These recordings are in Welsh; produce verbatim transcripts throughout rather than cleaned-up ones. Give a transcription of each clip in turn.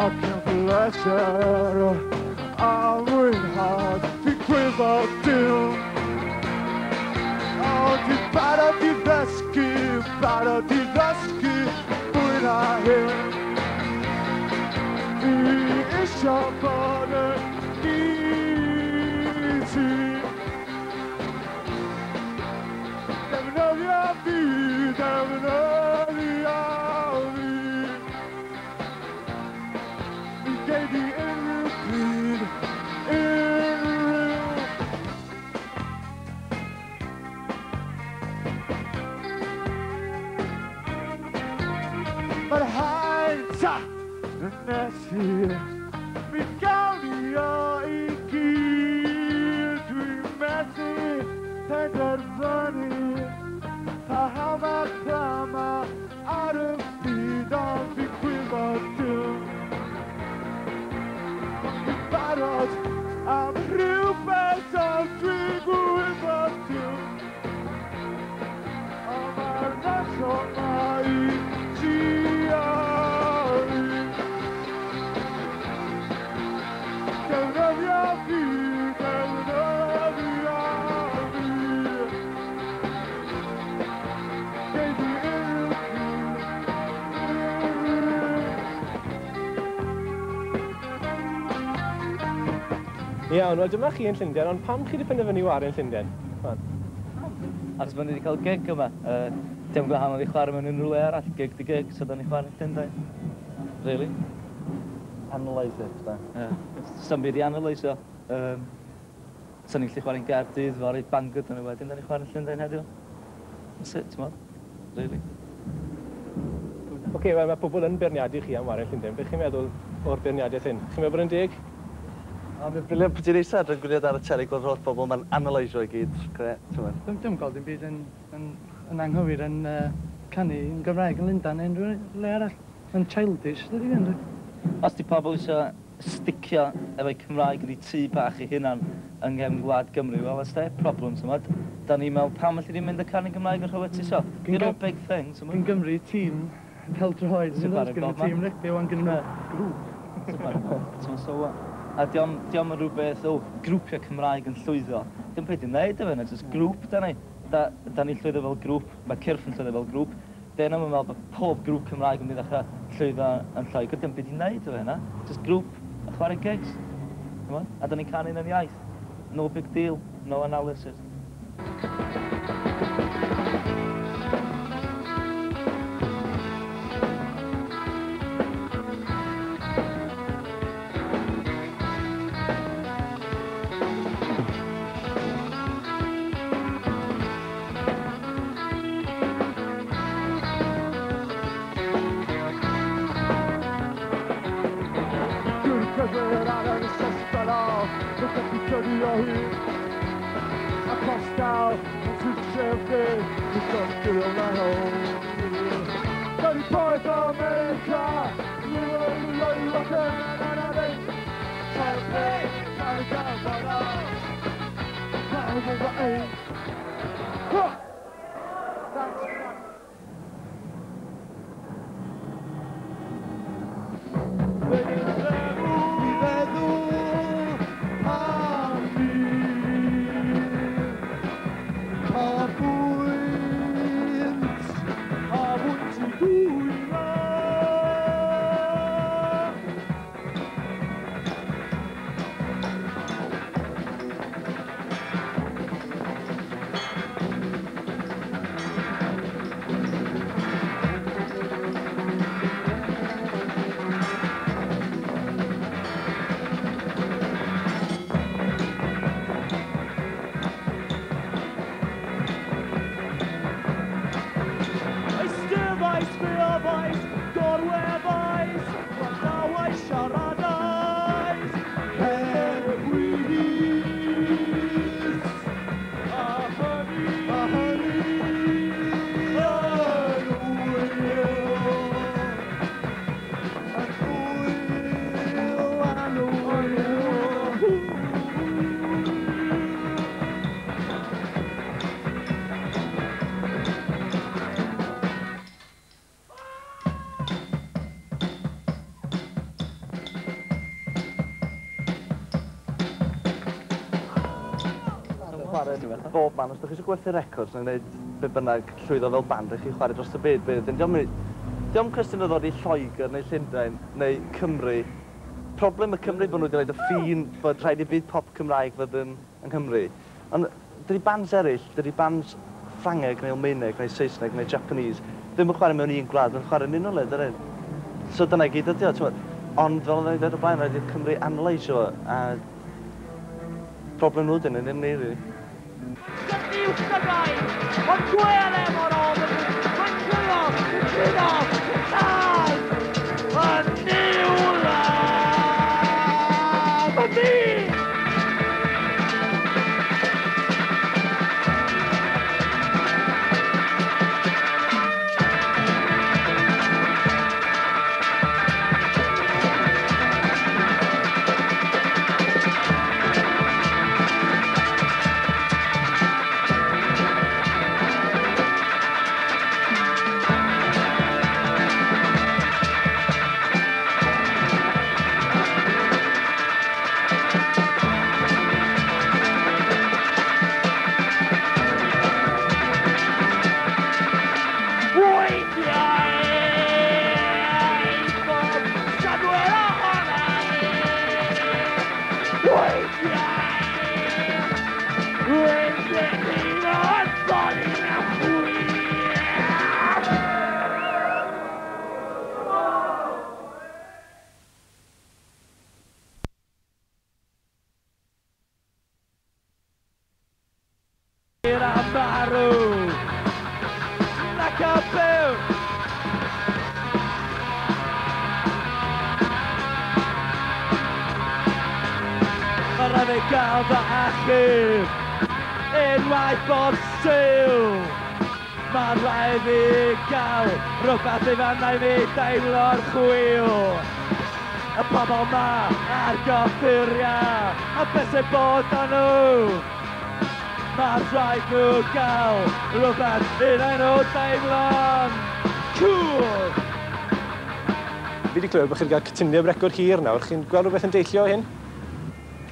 Ac yn bleser a mwynhad fi gwybod dim. O, dwi'n barod i ddysgu, barod i ddysgu fwy na hyn. Fi isio bod yn i ti. Defnyddio fi, defnyddio fi. Mi gei di unrhyw pryd, unrhyw. Mae'r haint a nes i, mi gawn ni o i gyd. Dwi'n methu penderfynu paham a pam a ar y byd, ond fi'n gwybod dim. Dwi'n barod am rhywbeth, ond dwi'n gwybod dim. Ond mae'r noson ma i ti a fi. Defnyddio fi, defnyddio fi. Gei di unrhyw pryd, unrhyw. Iawn, wel dyma chi yn Llundain, ond pam chi wedi penderfynu ware yn Llundain? Man. Achos bod ni wedi cael gig yma. Uh, dim gwahanol i chwarae mewn unrhyw le arall, gig di gig, so da ni chwarae yn Llundain. Really? Analyse it, da. Yeah. Sa'm byd i analysio. Um, Sa'n ni'n gallu chwarae'n Gaerdydd, fory, Bangor, dyn nhw wedyn, da ni chwarae'n Llundain heddiw. That's it, ti'n Really. Oce, okay, wel mae pobl yn beirniadu chi am ware yn Llundain. Beth chi'n meddwl o'r beirniadaeth hyn? Chi'n meddwl bod yn deg? O, mae'n brilliant pryd ti'n eistedd adre'n gwylio ar y teli gweld holl bobl, mae'n analysio i gyd. Gret, ti'n meddwl. Dwi'n dwi'n gweld dim byd yn, yn, yn anghywir yn uh, canu yn Gymraeg yn Lundain neu unrhyw le arall. Mae'n childish, dydy fi. Os di pobl eisiau sticio efo'i Cymraeg yn eu tŷ bach eu hunan yng nghefn gwlad Gymru, well, that's their problem, t'mod. Da ni'n meddwl, pam allu ni mynd y canu Gymraeg yn rhywle ti isio? Gyn You're no Gym- big thing, t'mod. Gyn Gymru tîm pêl-droed, Sy'n yn chwarae gyn bob man. tîm rygbi, wan gyn nhw grŵp. T'mod, so what? A diom, diom yn rhywbeth, o, grwpiau Cymraeg yn llwyddo. Dim byd i wneud efo hynna, just grŵp da ni. Da, da ni'n llwyddo fel grŵp, mae Cyrff yn llwyddo fel grŵp. Dyn nhw'n meddwl bod pob grŵp Cymraeg yn mynd i ddechrau llwyddo yn Lloegr. Dim byd i wneud efo hynna. Just grŵp a chwarae gigs. T'mod? A da ni'n canu yn iaith. No big deal, no analysis. Dwi'n cerdded ar yr ysgol, dwi'n gallu tynnu o hyd. A costal, yn twtio fi, dwi'n gallu my home. Thirty points America, you will be rocking and I think. Trying to go, go, go, go. Thanks. I feddwl am fi Pa bwynt a wyt ti dwylo. Bob man, os ydych chi eisiau gwerthu records neu wneud be bynnag llwyddo fel band, rhaid chi chwarae dros y byd. Dio'm cwestiwn o ddod i Lloegr neu Llundain neu Cymru. Problem y Cymru bod nhw wedi rhoid y ffin bod rhaid i byd pop Cymraeg fod yn yng Nghymru. Ond dydy bands eraill, dydy bands Ffrangeg neu Almaeneg neu Saesneg neu Japanese ddim yn chwarae mewn un gwlad, mae'n chwarae yn unrhyw le, dydyn? So dyna i gyd ydi o, t'mod. Ond fel o'n i'n dweud o blaen, rhaid i'r Cymru analysio fo, a problem nhw dyn nhw, ddim ni, really. Dydy i'w Gymraeg, ond gwel e mor ofn, mae'n cwyno, yn cwyno, yn cael, yn niwla, y byd! Gael fy achub unwaith bob Sul. Mae'n rhaid fi gael rhywbeth i fan i fi deimlo'r chwil. Y pobl ma ar gyffuriau, a beth sy'n bod â nhw? Mae'n rhaid nhw gael rhywbeth i nhw deimlo'n cool. Fi wedi clywed bod chi wedi cael cytundeb record hir nawr. Chi'n gweld rhywbeth yn deillio o hyn?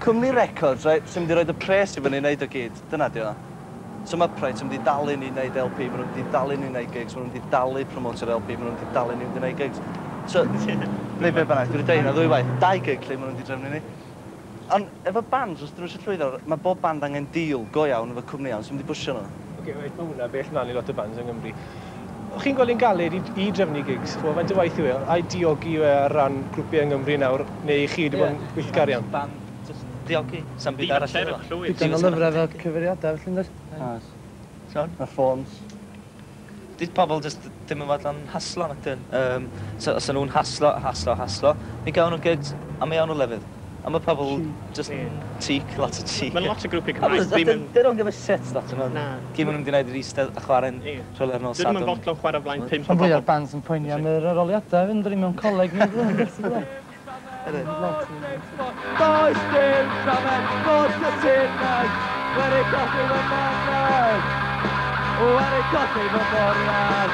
Cwmni Records, right, sy'n mynd i roed y pres i fyny i wneud o gyd, dyna di o. So mae Upright yn mynd i dalu ni wneud L P, maen nhw'n mynd i dalu ni wneud gigs, maen nhw'n mynd i dalu promotio'r L P, maen nhw'n mynd i dalu ni wneud gigs. So, neu be bynnag, dwi wedi dweud hynna ddwy waith, dau gig lle maen nhw'n mynd i drefnu ni. Ond efo bands, os dyn nhw eisiau llwyddo, mae bob band angen deal go iawn efo cwmni iawn sy'n mynd i bwysio nhw. Oce, okay, mae hwnna bell mlaen i lot o bands yng Nghymru. O'ch chi'n gweld hi'n galed i, i drefnu gigs? Ch'mo, faint o waith yw e? Ai diogi yw e ar ran grwpiau yng Nghymru nawr, neu chi wedi bod yn gweithgar iawn? Band diogi, sa'm byd arall iddo fo. Digon o lyfrau fel cyfeiriadau, felly yndoes? Oes. Mae ffôns. Di pobl jyst ddim yn fodlon haslo, nac dyn. Um, so, os nhw'n haslo, haslo, haslo, mi gawn nhw gigs, a mi awn nhw lefydd. A mae pobl just cheek, lot o cheek. Mae lot o grwpiau Cymraeg ddim yn... They don't give a shit, lot o nhw. Na. Gyd maen nhw'n mynd i wneud yr eistedd a chwarae'n rhywle ar nos Sadwrn. Dyn nhw'n fodlon chwarae flaen pump o Rhan bobl. fwyaf bands yn poeni am yr arholiadau, fynd mewn coleg neu Does dim rhyfedd fod cytunedd wedi colli fy manedd, wedi colli fy moriad.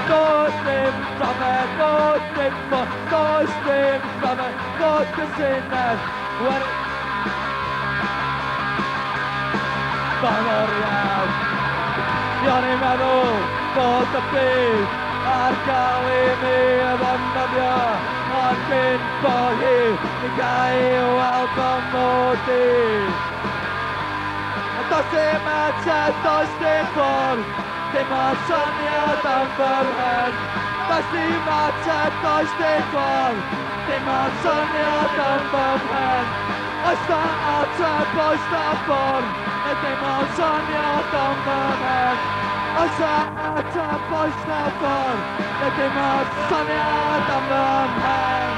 Does dim rhyfedd, does dim fod, does dim rhyfedd fod cytunedd wedi... Fy moriad. O'n i'n meddwl bod y byd ar gael i mi ddefnyddio, ond cyn bo hir, mi gael weld fy mod i. Does dim ateb, does dim ffordd, dim ond syniad am fy mhen. Does dim ateb, does dim ffordd, dim ond syniad am fy mhen. Oes na ateb, oes na ffordd, neu dim ond syniad am fy mhen. Oes na ateb, oes na ffordd, neu dim ond syniad am fy mhen.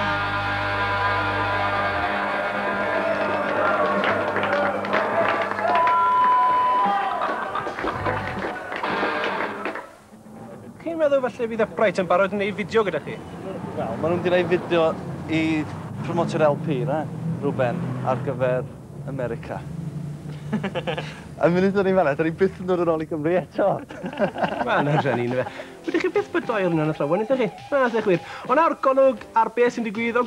Chi'n meddwl falle fydd Upright yn barod yn gwneud fideo gyda chi? Wel, maen nhw'n mynd i wneud fideo i promotio'r L P, na? Rwben, ar gyfer America. A munud o'n i'n fan'na, da ni byth yn dod yn ôl i Gymru eto. Wel, na drueni, yndyfe. Wydych chi byth bod doi o'r hwnna'n athrawon, ydych chi? Na, ydych wir. Ond nawr, golwg ar beth sy'n digwydd o